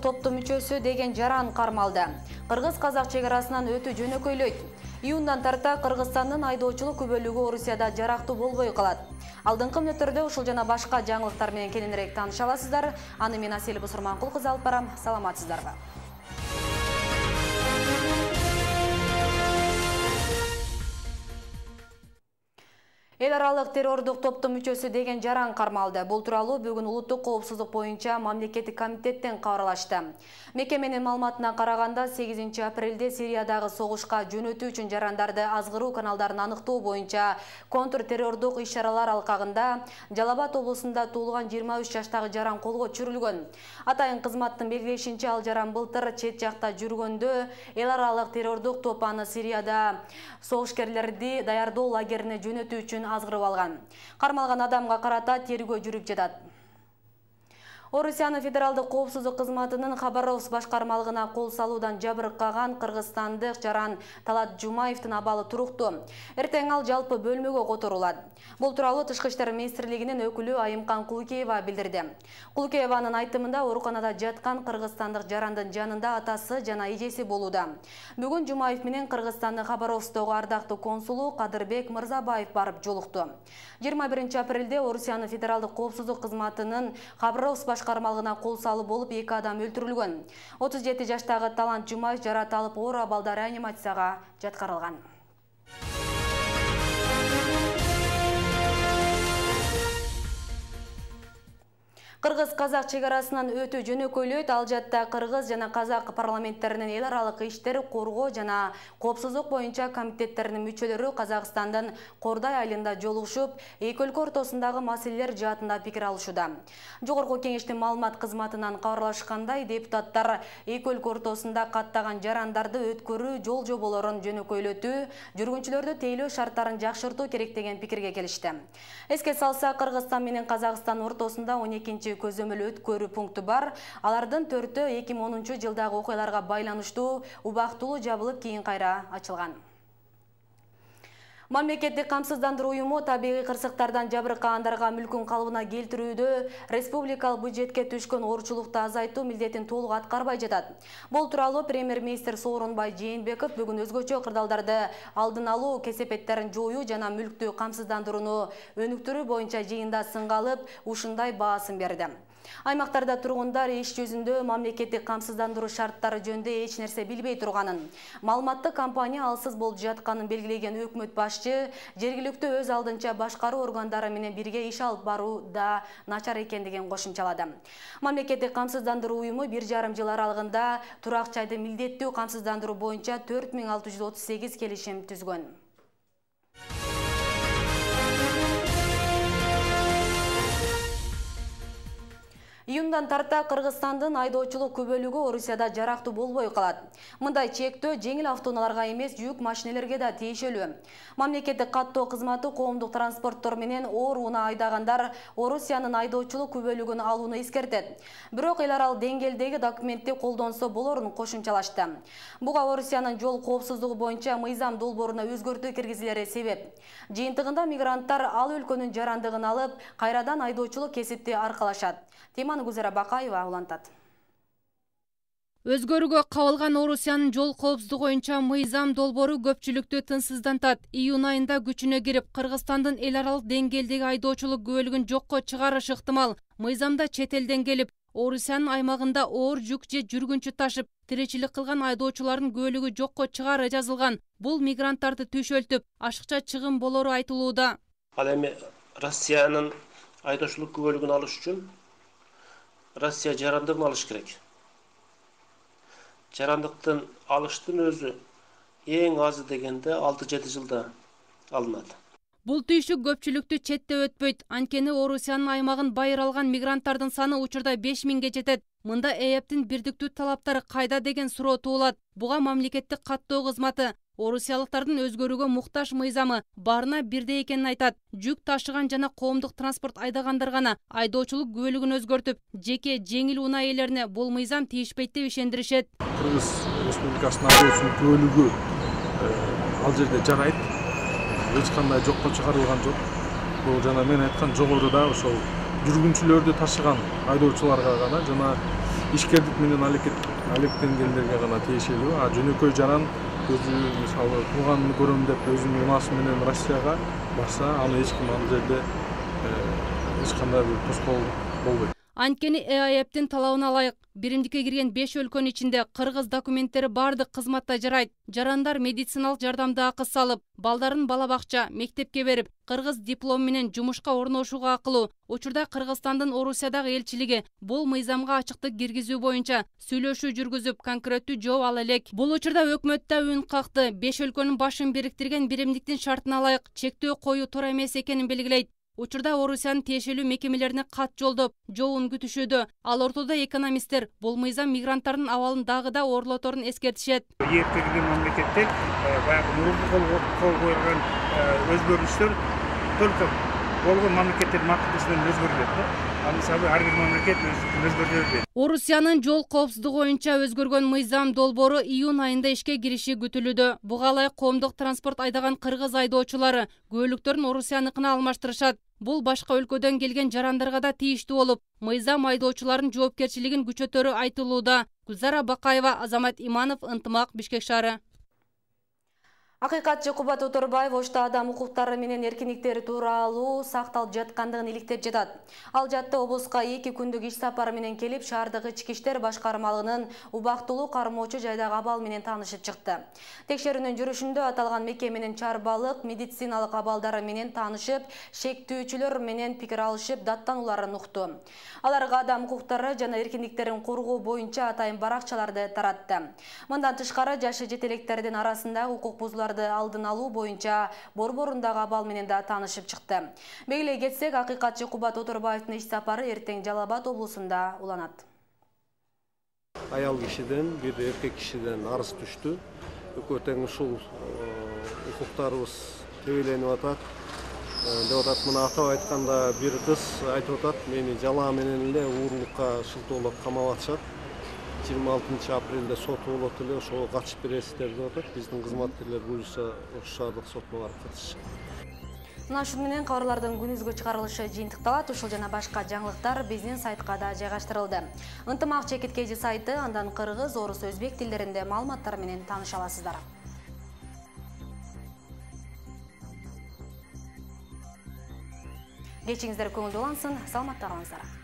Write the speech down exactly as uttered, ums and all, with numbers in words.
террорлук топтун мүчөсү деген жаран кармалды. Кыргыз-казак чек арасынан өтүү жөнөкөйлөйт. Июндан тарта Кыргызстандын айдоочулук күбөлүгү Орусияда жарактуу болбой калат. Алдыңкы мүнөттөрдө ушул жана башка жаңылыктар менен кененирээк тааныша аласыздар. Аны мен Асель Бусурманкул кызы алып барам. Саламатсыздарбы? Эл аралык террордук топтун мүчөсү деген жаран кармалды. Бул тууралуу бүгүн улуттук коопсуздук боюнча мамлекеттик комитеттен кабарлашты. Мекеменин маалыматына караганда сегизинчи апрелде Сириядагы согушка жөнөтүү үчүн жарандарды азгыруу каналдарын аныктоо боюнча контртеррордук иш-чаралар алкагында Жалал Абад облусунда туулган жыйырма үч жаштагы жаран колго түшүрүлгөн. Атайын кызматтын белгилешинче, ал жаран былтыр чет жакта жүргөндө эл аралык террордук топ аны Сирияда согушкерлерди даярдоо лагерине жөнөтүү үчүн азгырып алган. Кармалган адамга карата тергөө жүрүп жатат. Орусиянын федералдык коопсуздук кызматынын Хабаровск башкармалыгына кол салуудан жабыркаган кыргызстандык жаран Талат Жумаевдин абалы туруктуу. Эртең ал жалпы бөлмөгө которулат. Бул тууралуу Тышкы иштер министрлигинин өкүлү Айымкан Кулукеева билдирди. Кулукееванын айтымында ооруканада жаткан кыргызстандык жарандын жанында атасы жана эжеси болууда. Бүгүн Жумаев менен Кыргызстандын Хабаровсктогу ардактуу консулу Кадырбек Мырзабаев барып жолукту. жыйырма биринчи апрелде Орусиянын федералдык коопсуздук кызматынын Хабаровск башкармалыгына кол салуу болуп эки адам өлтүрүлгөн. отуз жети жаштагы Талант Жумаев жарат алып оор абалда реанимацияга жаткырылган. Кыргыз-казак чек арасынан өтүү жөнөкөйлөйт. Ал жатта кыргыз жана казак парламенттеринин эл аралык иштер коргоо жана коопсуздук боюнча комитеттеринин мүчөлөрү Казакстандын Кордай айылында жолугушуп, эки өлкө ортосундагы маселелер жаатында пикир алышууда. Жогорку кеңештин маалымат кызматынан кабарлашкандай, депутаттар эки өлкө ортосунда каттаган жарандарды өткөрүү жол жоболорун жөнөкөйлөтүү, жүргүнчүлөрдү тейлөө шарттарын жакшыртуу керек деген пикирге келишти. Эске салса, Кыргызстан менен Казакстан ортосунда он экинчи көзөмөл өткөрүү пункту бар. Алардын төртөө эки миң онунчу жылдагы окуяларга байланыштуу убактылуу жабылып, кийин кайра ачылган. Мамлекеттик камсыздандыруу уюму табигый кырсыктардан жабыркагандарга мүлкүн калыбына келтирүүдө республикалык бюджетке түшкөн оорчулукту азайтуу милдетин толук аткарбай жатат. Бул тууралуу премьер-министр Сооронбай Жээнбеков бүгүн өзгөчө кырдаалдарды алдын алуу, кесепеттерин жоюу жана мүлктү камсыздандырууну өнүктүрүү боюнча жыйында сынга алып, ушундай баасын берди. Аймактарда тургундар иш жүзүндө мамлекеттик камсыздандыруу шарттары жөнүндө эч нерсе билбей турганын, маалыматтык компания алсыз болуп жатканын белгилеген өкмөт башчы жергиликтүү өз алдынча башкаруу органдары менен бирге иш алып баруу да начар экендигин кошумчалады. Мамлекеттик камсыздандыруу уюму бир жарым жыл аралыгында турак жайды милдеттүү камсыздандыруу боюнча төрт миң алты жүз отуз сегиз келишим түзгөн. Июндан тарта Кыргызстандын айдоочулук күбөлүгү Орусияда жарактуу болбой калат. Мындай чектөө жеңил автоунааларга эмес, жүк машинелерге да тиешелүү. Мамлекеттик каттоо кызматы коомдук транспорттор менен оор унаа айдагандар Орусиянын айдоочулук күбөлүгүн алууну эскертет. Бирок эл аралык деңгээлдеги документти колдонсо болорун кошумчалашты. Буга Орусиянын жол коопсуздугу боюнча мыйзам долбооруна өзгөртүү киргизилери себеп. Жыйынтыгында мигранттар ал өлкөнүн жарандыгын алып, кайрадан айдоочулук кесипти аркалашат. Теманы Гүзара Бакаева улантат. Өзгөрүүгө кабылган Орусиянын жол коопсуздугу боюнча мыйзам долбоору көпчүлүктү тынчсыздантат. Июнь айында күчүнө кирип, Кыргызстандын эл аралык деңгээлдеги айдоочулук күбөлүгүн жокко чыгарыш ыктымал. Мыйзамда чет элден келип, Орусиянын аймагында оор жүк же жүргүнчү ташып, тиричилик кылган айдоочулардын күбөлүгү жокко чыгары жазылган. Бул мигранттарды түшөлтүп, ашыкча чыгым болору айтылууда. Ал эми Россиянын айдоочулук күбөлүгүн алыш үчүн Россия жарандыгын алыш керек. Жарандыктын алыштын өзү эң азы дегенде алты жети жылда алынат. Бул түйшүк көпчүлүктү четте өтпөйт. Анткени Орусиянын аймагын байыр алган мигранттардын саны учурда беш миңге жетет. Мында ЭЭПтин бирдиктүү талаптары кайда деген суроо туулат. Буга мамлекеттик каттоо кызматы орусиялыктардын өзгөрүүгө муктаж мыйзамы барына бирдей экенин айтат. Жүк ташыган жана коомдук транспорт айдагандар гана айдоочулук күбөлүгүн өзгөртүп, жеке жеңил унаа ээлерине бул мыйзам тийишпейт деп ишендиришет. Кыргыз Республикасынын айдоочулук күбөлүгү ал жерде жарайт. Эч кандай жокко чыгарылган жок. Бул жана мен айткан жогоруда ошол жүргүнчүлөрдү ташыган айдоочуларга гана жана ишкердик менен алектенгендерге гана тиешелүү. А жөнөкөй жаран өзү мисалы тууганын көрөм деп өзүнүн унаасы менен Россияга барса, аны эч ким ал жерде эч кандай бир тоскоол болбойт. Анткени Э А Эптин талабына ылайык биримдикке кирген беш өлкөнүн ичинде кыргыз документтери бардык кызматта жарайт. Жарандар медициналык жардамды акы салып, балдарын бала бакча, мектепке берип, кыргыз диплом менен жумушка орношууга акылуу. Учурда Кыргызстандын Орусиядагы элчилиги бул мыйзамга ачыктык киргизүү боюнча сүйлөшүү жүргүзүп, конкреттүү жооп ала элек. Бул учурда өкмөт да үн какты. Беш өлкөнүн башын бириктирген биримдиктин шартына ылайык чектөө коюу туура эмес экенин белгилейт. Учурда Орусиянын тиешелүү мекемелерине кат жолдоп, жообун күтүшүүдө. Ал ортодо экономисттер бул мыйзам мигранттардын абалын дагы да оорлоторун эскертишет. Эркегилүү мамлекетте баягы мурунку кол койгон өзгөрүштөр только болгон мамлекеттердин макулдугу менен өзгөрүлөт да. Ал мисалы ар бир мамлекет өзгөртөбү. Орусиянын жол коопсуздугу боюнча өзгөргөн мыйзам долбоору июнь айында ишке кириши күтүлүүдө. Буга ылайык коомдук транспорт айдаган кыргыз айдоочулары көлүктөрүн Орусияныкына алмаштырышат. Бул башка өлкөдөн келген жарандарга да тийиштүү болуп, мыйзам айдоочулардын жоопкерчилигин күчөтөрү айтылууда. Гүлзара Бакаева, Азамат Иманов, Ынтымак, Бишкек шаары. Акыйкатчы Кубат Оторбаев Ошто адам укуктары менен эркиндиктери тууралуу сакталып жаткандыгын иликтеп жатат. Ал жатты облуска эки күндүк иш сапары менен келип, шаардагы ички иштер башкармалыгынын убактылуу кармоочу жайдагы абал менен таанышып чыкты. Текшерүүнүн жүрүшүндө аталган мекеменин чарбалык медициналык абалдары менен таанышып, шектүүчүлөр менен пикир алышып, даттанууларын укту. Аларга адам укуктары жана эркиндиктерин коргоо боюнча атайын баракчаларды таратты. Мындан тышкары жашы жете электердин арасында укук бузуулар алдын алуу боюнча борборундагы абал менен да таанышып чыкты. Белгилей кетсек, акыйкатчы Кубат Оторбаевдин иш сапары эртең Жалал Абад облусунда уланат. Аял кишиден, бир эркек кишиден арыз түштү. Экөө тең ушул укуктарыбыз тебеленип атат. Деп атат, мына атап айтканда бир кыз айтып атат, мени жалаа менен эле уурулукка шылтоолоп камап атышат. жыйырма алтынчы апрелде соту болот эле, ошого катышып бересиздер деп атат. Биздин кызматкерлер буюрса ошол шаардык сотуна барып катышышат. Мына ушун менен кабарлардын күнүзгү чыгарылышы жыйынтыкталат. Ушул жана башка жаңылыктар биздин сайтка да жайгаштырылды. Ынтымак чекиткеji сайты, андан кыргыз, орус, өзбек тилдеринде маалыматтар менен тааныша аласыздар. Кечиңиздер көңүлдүү улансын, саламатта калыңыздар.